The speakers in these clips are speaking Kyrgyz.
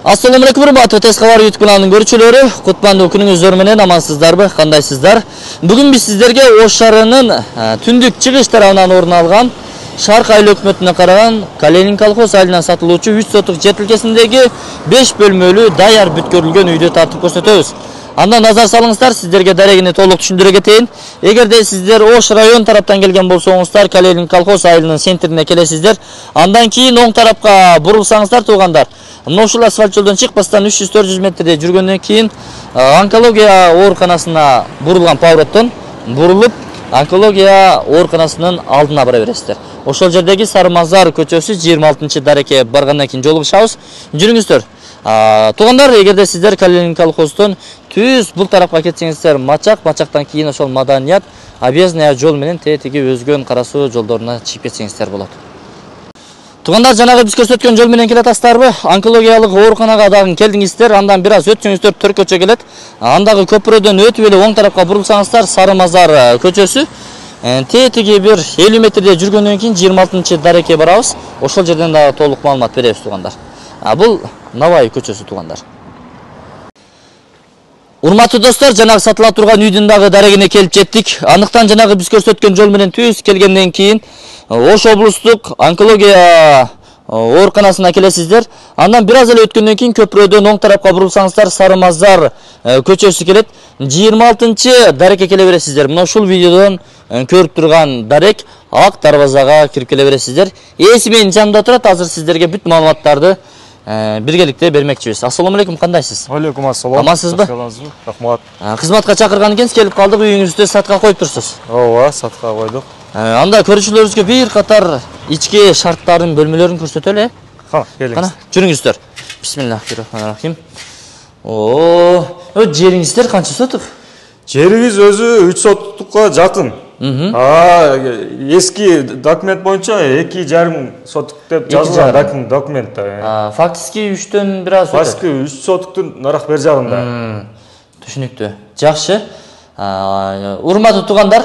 Assalamu alaikum урматтуу Тез кабар YouTube каналынын көрүүчүлөрү, кутмандуу күнүңүздөр менен амансыздарбы, кандайсыздар? Бүгүн биз сиздерге Ош шаарынын түндүк чыгыш тарабынан орун алган Шарк айыл өкмөтүнө караган Калинин колхоз айылынан сатылуучу 3 сотук жер тилкесиндеги 5 бөлмөлүү даяр бүткөрүлгөн үйдү тартып көрсөтөбүз. Анда назар салыңыздар, сиздерге дарегини толук түшүндүрө кетейин. Эгерде сиздер Ош район тараптан келген болсоңуздар, Калинин колхоз айылынын центрине келесиздер. Андан кийин оң тарапка бурулсаңыздар туугандар, мына ушул асфальт жолдон чыкпастан 300-400 метрде жүргөндөн кийин онкология ооруканасына бурулган повороттон бурулуп, онкология ооруканасынын алдына бара бересиздер. Ошол жердеги Сарымазар көчөсү 26 дарекке баргандан кийин жолугушабыз. Жүрүңүздөр. Туугандар, эгерде сиздер Калинин колхоздон түз бул тарапка кетсеңиздер, мачактан кийин ошол Маданият, Объездная жол менен тетиги өзгөн карасуу жолдоруна чыгып кетсеңиздер болот. Туугандар, жанагы биз көрсөткөн жол менен келатасыздарбы? Онкологиялык ооруканага дагы келдиңиздер, андан бир аз өтсөңүздөр төркөчө келет. Андагы көпүрөдөн өтүп эле оң тарапка бурулсаңыздар, Сарымазар көчөсү. Тетиги бир 50 метрде жүргөндөн кийин 26 дарекке барабыз. Ошол жерден дагы толук маалымат беребиз туугандар. Бул Навай көчөсү туугандар. Урматтуу достор, жанагы сатыла турган үйдүн дагы дарегине келип жеттик. Андыктан жанагы биз көрсөткөн жол менен түз келгенден кийин Ош облустук онкология ооруканасына келесиздер. Андан бир аз эле өткөндөн кийин көпүрөдөн оң тарапка бурулсаңыздар, Сарымазар көчөсү келет. 26 дарекке келе бересиздер. Мына ушул видеодон көрүп турган дарек ак дарбазага кирип келе бересиздер. Ээси менин жанымда турат, азыр сиздерге бүт маалыматтарды биргеликте бермекчибиз. Ассаламу алейкум, кандайсыз? Алейкум ассалам. Амансызбы? Рахмат. Кызматка чакырган экенсиз, келип калдык, үйүңүздө сатка коюп турсуз. Ооба, сатка койдук. Анда көрүүчүлөрүбүзгө бир катар ички шарттардын бөлмөлөрүн көрсөтөлү. Келиңиз. Кана, жүрүңүздөр. Бисмиллахиррахманиррахим. Жериңиздер канча сотук? Жерибиз өзү 3 сотукка жакын. Эски документ боюнча 2,5 сотук деп жазылган документте. Фактически 3төн бир аз. Фактически 3 сотуктун нарак бер жагында. Түшүнүктүү. Жакшы. Урматтуу туугандар,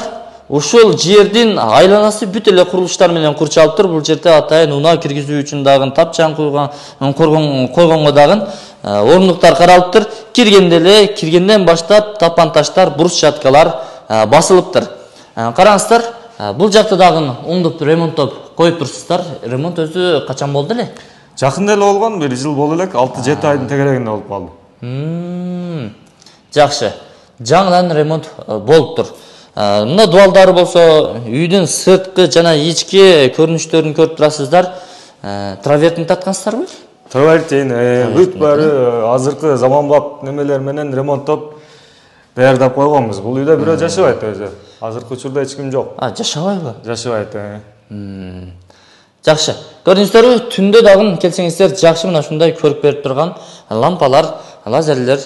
ушул жердин айланасы бүт эле курулуштар менен курчалыптыр. Бул жерде атайын унаа киргизүү үчүн дагы тапчан койгонго дагы орнуктар каралыптыр. Киргенден баштап тапан таштар, брусчаткалар басылыптыр. Караңыздар, бул жакты дагы оңдоп ремонттоп коюп турсуздар. Ремонт өзү качан болду эле? Жакында эле болгон, 1 жыл болду элек, 6-7 айдын тегерегинде болуп калды. Жакшы. Жаңыдан ремонт болуптур. Мына дуалдары болсо, үйдүн сырткы жана ички көрүнүштөрүн көрүп турасыздар. Травертин таткансыздарбы? Травертин бүт баары азыркы заманбап немелер менен ремонттоп даярдап койгонбуз. Бул үйдө бирөө жашабайт өзү. Азыркы учурда эч ким жок. Жашабайбы? Жашабайт. Жакшы. Көрдүңүздөрбү, түндө дагы келсеңиздер жакшы мына ушундай көрүп берип турган лампалар, лазерлер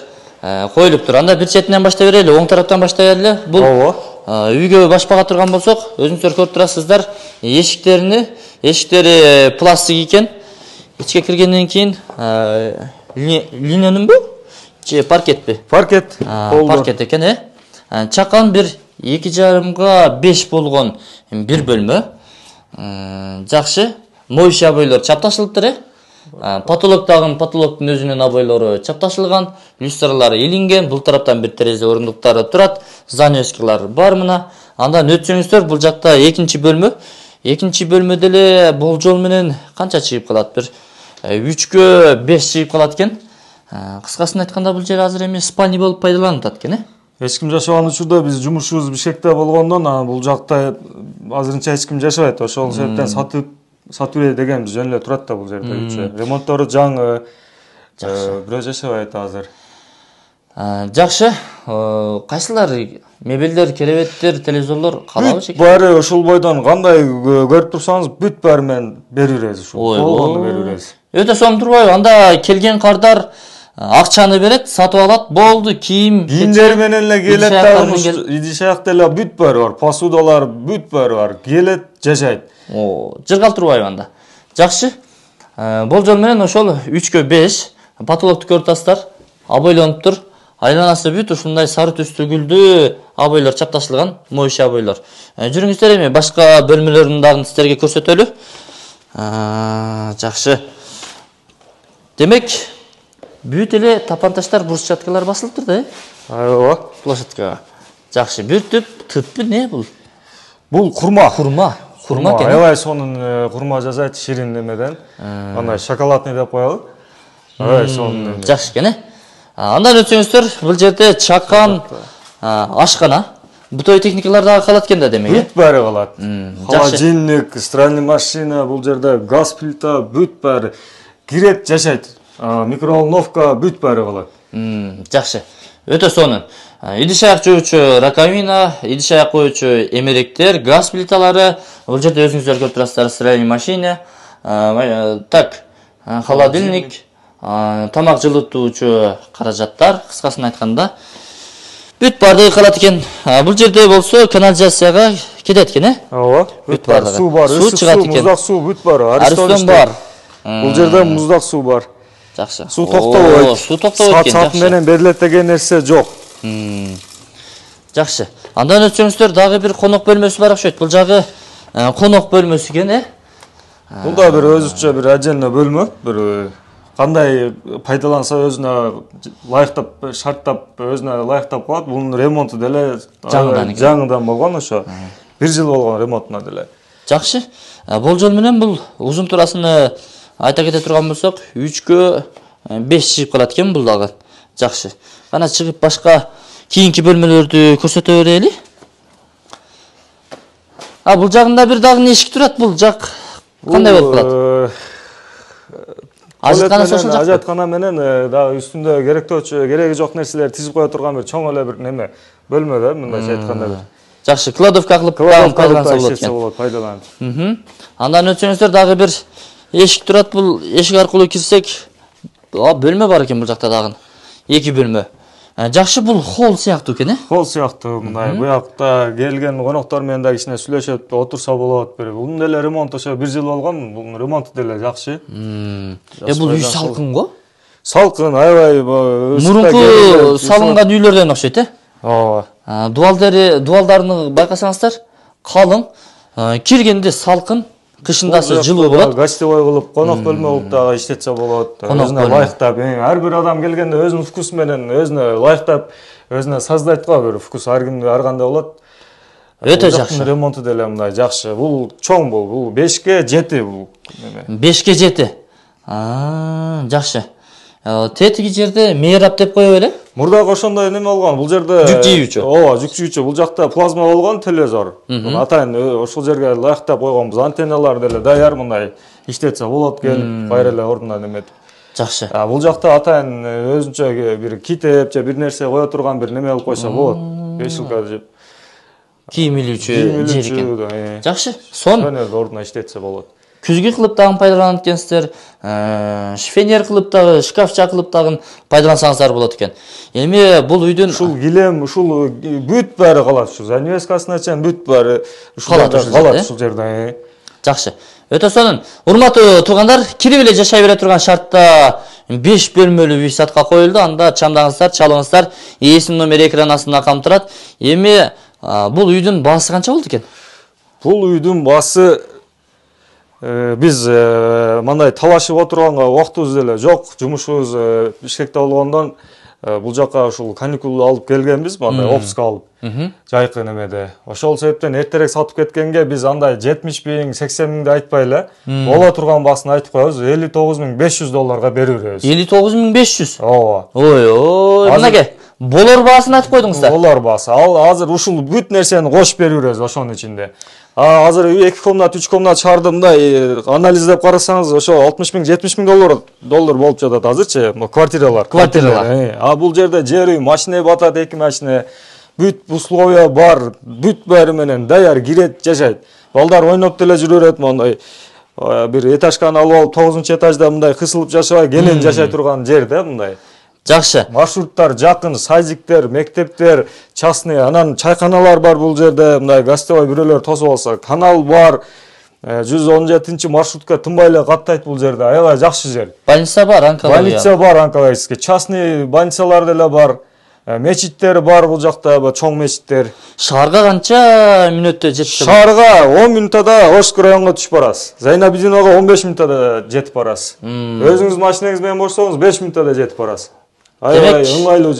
коюлуптур. Анда бир четинен баштай берели, оң тараптан баштай берели. Бул үйгө башпага турган болсок, өзүңүздөр көрүп турасыздар, эшиктери пластик экен. Ичке киргенден кийин линенинби? Же паркетпи? Паркет. Паркет экен, Чакан бир 2,5 5 болгон бир бөлмө. Жакшы. Моюши абойлор чапташылыптыр, Потолоктун өзүнүн абойлору чапташылган, люстралары илинген, бул тараптан бир терезе орундуктары турат, занавескалар бар мына. Андан өтсөңүздөр, бул жакта экинчи бөлмө. Экинчи бөлмөдө эле болжол менен канча чыгып калат? Бир 3кө 5 чыгып калат экен. Кыскасын айтканда, бул жер азыр эми спальня болуп пайдаланылып атат экен, Эч ким жашабаган учурда биз жумушубуз Бишкекте болгондон, бул жакта азырынча эч ким жашабайт. Ошол себептен сатуу деген жөн эле турат да бул жерде. Ремонттору жаңы. Бирөө жашабайт азыр. Жакшы. Кайсылар мебелдер, керебеттер, телевизорлор калабы шеке? Баары ошол бойдон кандай көрүп турсаңыз, бүт баары менен берип беребиз ушул. Болгону берип беребиз. Өтө сом турбайбы? Анда келген кардар акчаны берет, сатып алат, болду, кийимдери менен эле келет дагы, идиш аякта эле бүт баары бар, посудалар бүт баары бар. Келет, жашайт. Жыргал турбайбы анда? Жакшы. Болжол менен ошол 3кө 5 потолокту көрүп атасыздар, абойлонуптур. Айланасы бүт ушундай сары түстүү гүлдүү абойлор чапташылган, моюши абойлор. Жүрүңүздөр, эми башка бөлмөлөрүн дагы сиздерге көрсөтөлү. Жакшы. Демек, Бүт эле тапанташтар, брусчаткалар басылыптыр да, Ооба. площадкага. Жакшы. Бир түп не бул? Бул курма. Курма экен. Аябай сонун курма жасайт ширин немеден. Андай шоколадный деп коелу. Аябай сонун. Жакшы экен, Андан өтсөңүздөр, бул жерде чакан, ашкана, бутовый техникалар дагы калат экен да демек. Бүт баары калат. Холодильник, стиральный машина, бул жерде газ плита, бүт баары кирет, жашайт. Микроволновка, бүт баары калат. Жакшы. Өтө сонун. Идиш аяк жуучу раковина, идиш аяк коюучу эмеректер, газ плиталары, бул жерде өзүңүздөр көрүп турасыздар, стиральный машина, так, холодильник, тамак жылытуучу каражаттар, кыскасын айтканда, бүт баардыгы калат экен. Бул жерде болсо канализацияга кетет экен, Ооба. Бүт баардыгы. Суу бар, Суу чыгат экен. муздак суу бүт бар. Аристон бар. Бул жерде муздак суу бар. Жакшы. Суу токтобойт. Суу токтобойт экен. Саат менен берилет деген нерсе жок. Жакшы. Андан өтсөңүздөр, дагы бир конок бөлмөсү бар окшойт. Бул жагы конок бөлмөсү экен, Бул да бир өзүчө бир отдельно бөлмө, бир кандай пайдаланса өзүнө ылайыктап, шарттап, өзүнө ылайыктап калат. Бунун ремонту деле жаңыдан болгон ошо. 1 жыл болгон ремонтуна деле. Жакшы. Болжол менен бул узун турасыны айта кете турган болсок, 3кө 5 чыгып калат экен бул дагы. Жакшы. Кана чыгып башка кийинки бөлмөлөрдү көрсөтө берели. Бул жагында бир дагы эшик турат, бул жак кандай болуп калат? Ажаткана ошол жак. Ажаткана менен дагы үстүндө кереги жок нерселер тизип кое турган бир чоң эле бир неме бөлмө да, мындайча айтканда бир. Жакшы, кладовка кылып пайдаланса болот экен. Пайдаланып. Андан өтсөңүздөр, дагы бир эшик турат, бул эшик аркылуу кирсек, бөлмө бар экен бул жакта дагы. 2 бөлмө. Жакшы, бул холл сыяктуу экен, Холл сыяктуу, мындай буякта келген коноктор менен да кичине сүйлөшөт, отурса болот. Бунун деле ремонт ошо 1 жыл болгон, бунун ремонту деле жакшы. Бул үй салкын го? Салкын, аябай мурунку салынган үйлөрдөн окшойт, Ооба. Дуалдарын байкасаңыздар, калың, киргенде салкын, кышындасы жылуу болот. Гостевой кылып, конок бөлмө кылып дагы иштетсе болот. Өзүнө ылайыктап, ар бир адам келгенде өзүнүн вкусу менен, өзүнө ылайыктап, өзүнө создайт го, бир вкус ар кимде ар кандай болот. Өтө жакшы. Ремонту деле мындай жакшы. Бул чоң бул 5ке 7 бул. 5ке 7. Жакшы. Тетиги жерде мейрап деп коё беле? Мурдагы ошондой неме болгон. Бул жерде жүк жийүүчү. Ооба, жүк жийүүчү. Бул жакта плазма болгон, телевизор. Атайын ошол жерге ылайыктап койгонбуз. Антенналар деле даяр, мындай иштетсе болот, келип кайра эле ордуна неметип. Жакшы. Бул жакта атайын өзүнчө бир китеп же бир нерсе кое турган бир неме кылып койсо болот. Бешилка жеп. Кийим илүүчү жер экен. Жакшы. Сон ордуна иштетсе болот. Күзгү кылып дагы пайдаланат экенсиздер. Шифонер кылып дагы, шкафча кылып дагы пайдалансаңыздар болот экен. Эми бул үйдүн ушул килем, ушул бүт баары калат, ушу занавескасына чейин бүт баары калат ушул жерде. Жакшы. Өтө сонун. Урматтуу туугандар, кирип эле жашай бере турган шартта 5 бөлмөлүү үй сатка коюлду. Анда чамдаңыздар, чалыңыздар, ээсинин номери экран астында камтырат. Эми бул үйдүн баасы канча болду экен? Бул үйдүн баасы биз мындай талашып отурганга убактыбыз деле жок. Жумушубуз Бишкекте болгондон бул жака ушул каникул алып келгенбиз, мындай отпуск алып. Жайкы немеде. Ошол себептен эртерээк сатып кеткенге биз андай 70 миң, 80 миңди айтпай эле, боло турган баасын айтып коебуз. $59,500 берип беребиз. 59,500. Ооба. Ой, мынакей. Болор баасын айтып койдуңуздар. Болор баасы. Ал азыр ушул бүт нерсени кошуп берип беребиз ошонун ичинде. Азыр 2 комнат, 3 комнат шаардымда анализдеп карасаңыз, ошо 60 миң, 70 миң доллар болуп жатат азырчы, квартиралар. Бул жерде жер үй, машина батат, 2 машина, бүт условия бар, бүт баары менен даяр кирет, жашайт. Балдар ойноп деле жүрө берет, мондай бир этажканы алып алып 9-этажда мындай кысылып жашабай, кенен жашай турган жер да мындай. Жакшы. Маршруттар жакын, садиктер, мектептер, частный, анан чайканалар бар бул жерде, мындай гостевой бирөөлөр тосуп алса, канал бар. 117 маршрутка тынбай эле каттайт бул жерде. Аябай жакшы жер. Больница бар, онкология. Больница бар, онкологический. Частный больницалар деле бар. Мечиттер бар бул жакта, чоң мечиттер. Шаарга канча мүнөттө жетти? Шаарга 10 минутада Ошк районуна түшүп барасыз. Зайнабидиновага 15 минутада жетип барасыз. Өзүңүз машинаңыз менен барсаңыз 5 минутада жетип барасыз. Аябай ыңгайлуу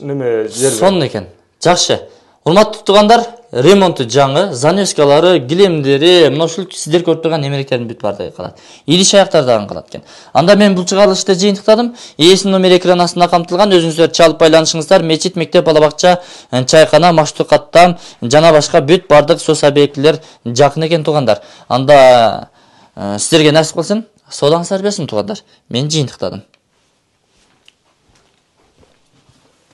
неме жер. Сонун экен. Жакшы. Урматтуу туугандар, ремонту жаңы, занёскалары, килемдери, мына ушул сиздер көрүп турган немеректердин бүт баардыгы калат. Идиш аяктар дагы калат экен. Анда мен бул чыгарылышты жыйынтыктадым. Ээсинин номер экран астында камтылган, өзүңүздөр чалып байланышыңыздар. Мечит, мектеп, бала бакча, чайкана, маштуу каттам жана башка бүт баардык сос объектилер жакын экен туугандар. Анда сиздерге насип кылсын, соодаңыздар берсин туугандар. Мен жыйынтыктадым.